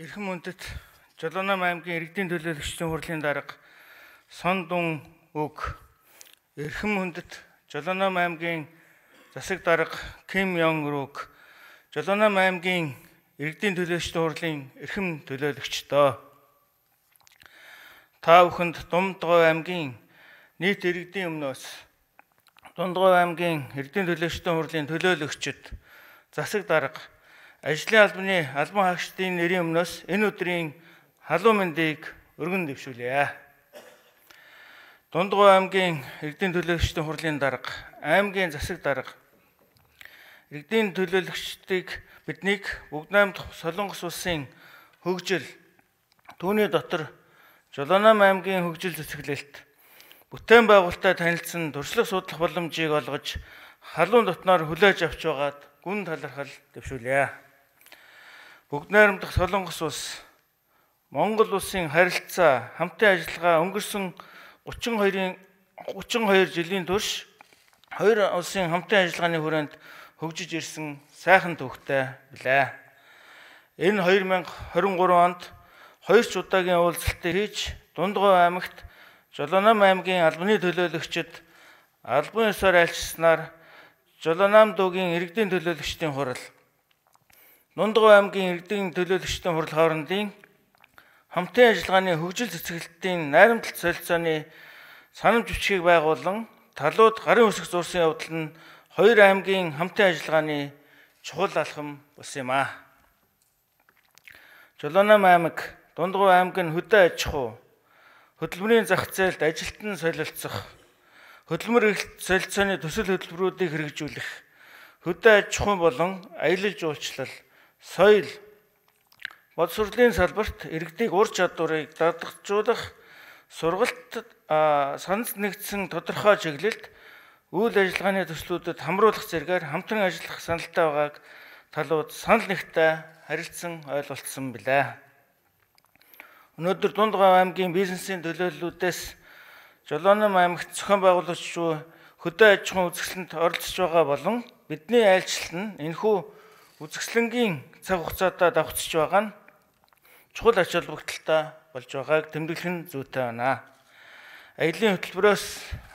Эрхэм үндэт Жолооном аймгийн иргэдийн төлөөлөгчдийн хурлын дарга Сондун Үг, эрхэм үндэт Жолооном аймгийн засаг дарга Ким Йонг Рук, Жолооном аймгийн иргэдийн төлөөлөгчдийн хурлын эрхэм төлөөлөгчдөө. Та бүхэнд Думдгой аймгийн нийт иргэдийн өмнөөс Дундгой аймгийн иргэдийн төлөөлөгчдийн хурлын төлөөлөгчид, засаг дарга, ажлын албаны албан хаагчдын нэрийн өмнөөс энэ өдрийн халуун мэндийг өргөн дэвшүүлье. Дундгой аймгийн иргэдийн төлөөлөгчдийн хурлын дарга, аймгийн засаг дарга, иргэдийн төлөөлөгчдийг биднийг Бүгд найрамдах Солонгос улсын хөгжил, түүний дотор Жолооном аймгийн хөгжил цэцгэлэлт, бүтээн байгуулалттай танилцсан туршлага судлах боломжийг олгож халуун дотноор хүлээж авч байгаад гүн талархал дэвшүүлье. Бүгд найрамдах Солонгос улс Монгол улсын харилцаа хамтын ажиллагаа өнгөрсөн 32 жилийн турш хоёр улсын хамтын ажиллагааны хүрээнд хөгжиж ирсэн сайхан төвхтэй билээ. Энэ 2023 онд хоёр ч удаагийн уулзалтыг хийж Дундгой аймагт Жолооном аймгийн албаны төлөөлөгчид албан ёсоор айлчилснаар Жолооном дуугийн иргэдийн төлөөлөгчдийн хурал, Дундгой аймгийн иргэдийн төлөөлөгчдийн хурал хоорондын хамтын ажиллагааны хөгжил цэцгэлтийн найрамдалт солилцооны санамж бичгийг байгуулан талууд гарын үсэг зурсан явдал нь хоёр аймгийн хамтын ажиллагааны чухал алхам болсон юм а. Жолооном аймаг, Дундгой аймаг нь хөдөө аж ахуй, хөдөлмөрийн зах зээлд ажилтан солилцох, хөдөлмөр эрхлэлт солилцооны төсөл хөтөлбөрүүдийг хэрэгжүүлэх, хөдөө аж ахуй болон аялал жуулчлал, соёл, боловсролын салбарт иргэдийн ур чадварыг дадагжуулах, сургалт санал нэгдсэн тодорхой чиглэлд үйл ажиллагааны төслүүдэд хамруулах зэргээр хамтран ажиллах саналтай байгааг талууд санал нэгтээ харилцан ойлголцсон билээ. Өнөөдөр Дундгой аймгийн бизнесийн төлөөллүүдээс Жолооном аймагт зохион байгуулагч буй хөдөө аж ахуйн үзэсгэлэнт оролцож байгаа болон бидний айлчлал нь энэхүү үзэсгэлэнгийн цаг хугацаатаа давхцаж байгаа нь чухал ач холбогдолтой болж байгааг тэмдэглэх нь зүйтэй байна. Аялын хөтөлбөрөөс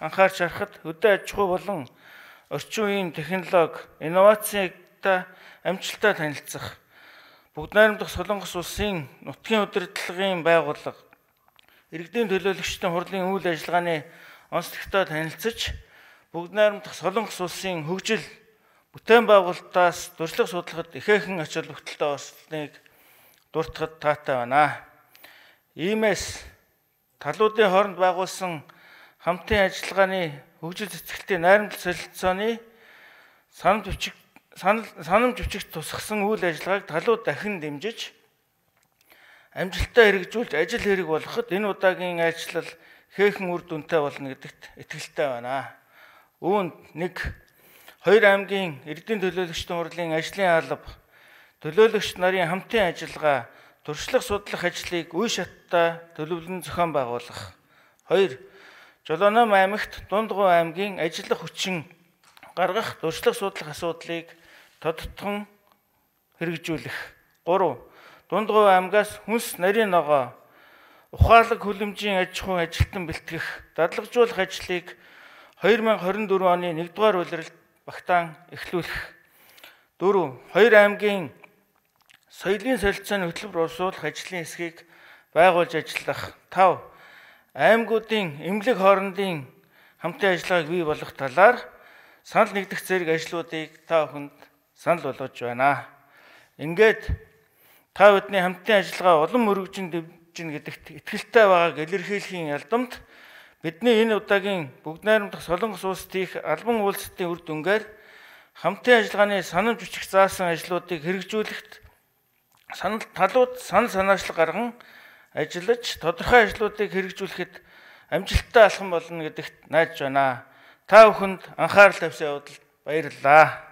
анхаарч харахад хөдөө аж ахуй болон орчин үеийн технологи, инновацтай амжилттай танилцах, Бүгд найрамдах Солонгос улсын нутгийн удирдлагын байгууллага, иргэдийн төлөөлөгчдийн хурлын үйл ажиллагааны онцлогтой танилцж, Бүгд найрамдах Солонгос улсын хөгжил, бүтээн байгуулалтаас туршлага судлахад ихээхэн ач холбогдолтой болсныг дуртахад таатай байна. Иймээс талуудын хооронд байгуулсан хамтын ажиллагааны хөгжил цэцгэлтийн найрамдал солилцооны санамж бичигт тусгасан үйл ажиллагааг талууд дахин дэмжиж амжилттай хэрэгжүүлж ажил хэрэг болгоход энэ удаагийн айлчлал ихээхэн үр дүнтэй болно гэдэгт итгэлтэй байна. Үүнд хоёр аймгийн иргэдийн төлөөлөгчдийн хурлын ажлын алба, төлөөлөгч нарын хамтын ажиллагаа, туршлага судлах ажлыг үе шаттай төлөвлөн зохион байгуулах. 2. Жолооном аймагт Дундгой аймгийн ажиллах хүчин гаргах, туршлага судлах асуудлыг тодтгон хэрэгжүүлэх. 3. Дундгой аймгаас хүнс нарийн ногоо, ухаалаг хүлэмжийн аж ахуйн ажилтан бэлтгэх, дадлагжуулах ажлыг 2024 оны 1-р улиралд багтаан эхлүүлэх. 4. Хоёр аймгийн соёлын солилцооны хөтөлбөр уусуулах ажлын хэсгийг байгуулж ажиллах. 5. Аймагуудын эмнэлэг хоорондын хамтын ажиллагааг бий болгох талаар санал нэгдэх зэрэг ажлуудыг та бүхэнд санал болгож байна. Ингээд та бидний хамтын ажиллагаа улам өргөжин дэвжин гэдэгт итгэлтэй байгааг илэрхийлэхийн ялдамт бидний энэ удаагийн Бүгд найрамдах Солонгос улсад хийх албан уулзалтын үр дүнгээр хамтын ажиллагааны санамж бичих заасан ажлуудыг хэрэгжүүлэхэд талууд санал санаачлал гарган ажиллаж тодорхой ажлуудыг хэрэгжүүлэхэд амжилттай алхам болно гэдэгт найдаж байна. Та бүхэнд анхаарал тавьсан явдалд баярлалаа.